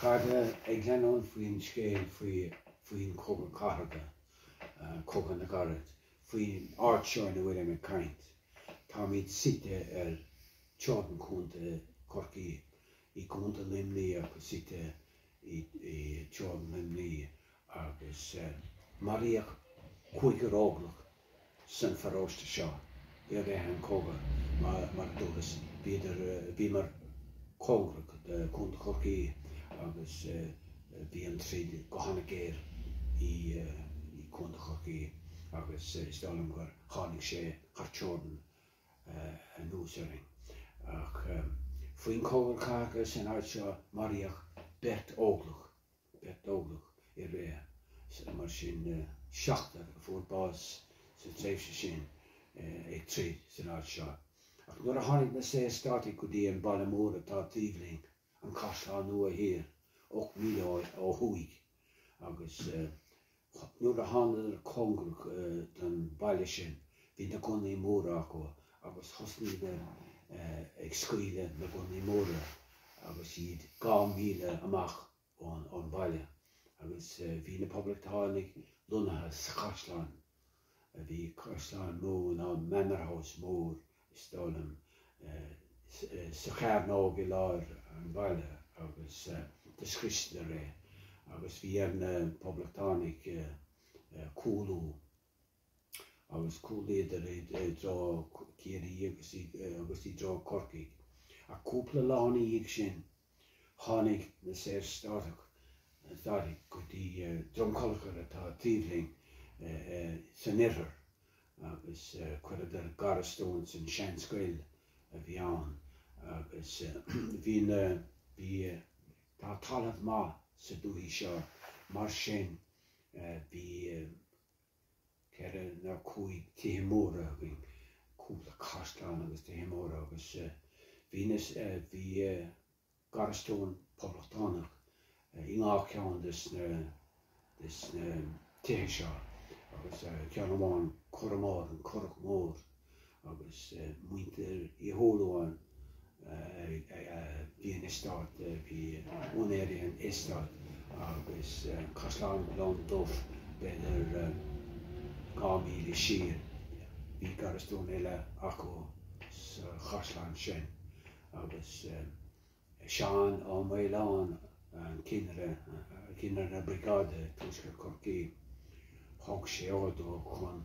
A chairde, ag leanúint faoin scéal faoi faoin Chogadh Cathartha, Cogadh na gCarad, faoin áit seo ina bhfuilim ag caint, táimid suite ar teorainn Chontae Chorcaí, i gContae Luimnigh agus suite i teorainn Luimnigh agus maraíodh cúigear óglach san pharóiste seo i rith an chogaidh, mar a dúras, bhíodar, bhíomar cóngarach do Chontae Chorcaí agus bhí an troid go hana-ghéar i gContae Chorcaí agus is dóigh liom gur tháinig sé thar teorainn anuas orainn. Ach faoin Chogadh Cathartha san áit seo maraíodh beirt óglach. Beirt óglach i rith, mar sin, seachtar a fuair bás sa tréimhse sin ag troid san áit seo. Ach nuair a tháinig na Saorstátaigh go dtí an baile mór atá taobh linn, an Caisleán Nua Thiar, 8 míle ó thuaidh, agus nuair a thánadar cóngarach don bhaile sin, bhí na gunnaí móra acu agus thosnaíodar ag scaoileadh na gunnaí móra agus iad 2 mhíle amach ón bhaile agus bhí na Poblachtánaigh lonnaithe sa chaisleán. Bhí caisleán mór nó manor house mór is dóigh liom sa chearnóg i lár an bhaile agus do scriosadar é agus bhí ar na Poblachtánaigh cúlú agus chúlaíodar i dtreo Ciarraí agus i dtreo Corcaigh. Ach cúpla lá ina dhiaidh sin tháinig na Saorstátaigh go dtí Droim Conchúir atá taobh linn san oirthear agus chuireadar garastún san seanscoil a bhí ann agus bhí na, bhí, tá talamh maith sa dúthaigh seo mar sin bhí ceithre nó cúig tithe móra againn, cúpla caisleán agus tithe móra agus bhí na, bhí garastún poblachtánach i ngach ceann des na, des na tithe seo agus ceann amháin Curraghmore, an Currach Mór agus muintir Uí Shúilleabháin bhí an eastát, bhí úinéirí an eastáit agus Caisleán Ghleann Dubh b'fhéidir 2 mhíle siar, bhí garastún eile acu sa chaisleán sin agus Seán Ó Maoláin, an cinnire, cinnire briogáide i dtuaisceart Chorcaí, thug sé ordú chun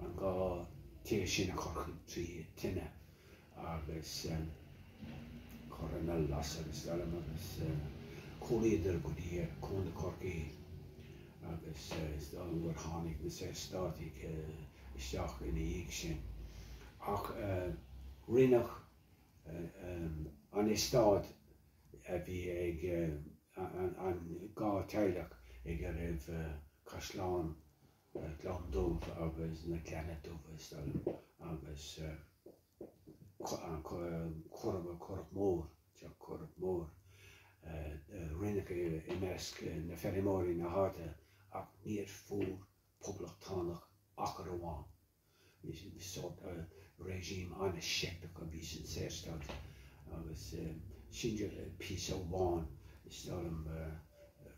an dá tigh sin a chur trí tine agus chur ina lasadh is dóigh liom agus chúlaíodar go dtí Contae Chorcaí agus is dóigh liom gur tháinig na Saorstátaigh isteach ina dhiaidh sin. Ach rinneadh an eastát a bhí ag an dhá teaghlach ag a raibh Caisleán Ghleann Dubh agus na Gleanna Dubha is dóigh liom agus an Currach Currach Mór, Teach Currach Mór, rinneadh é i measc na feirmeoirí na háite ach níor fuair poblachtánach achar amháin. Sórt regime an-seicteach a bhí san Saorstát agus sin píosa amháin is dóigh liom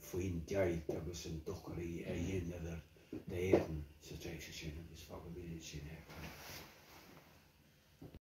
faoin deighilt agus an dochar a dheineadar d'Éirinn sa tréimhse sin agus fágfaimid ansin é.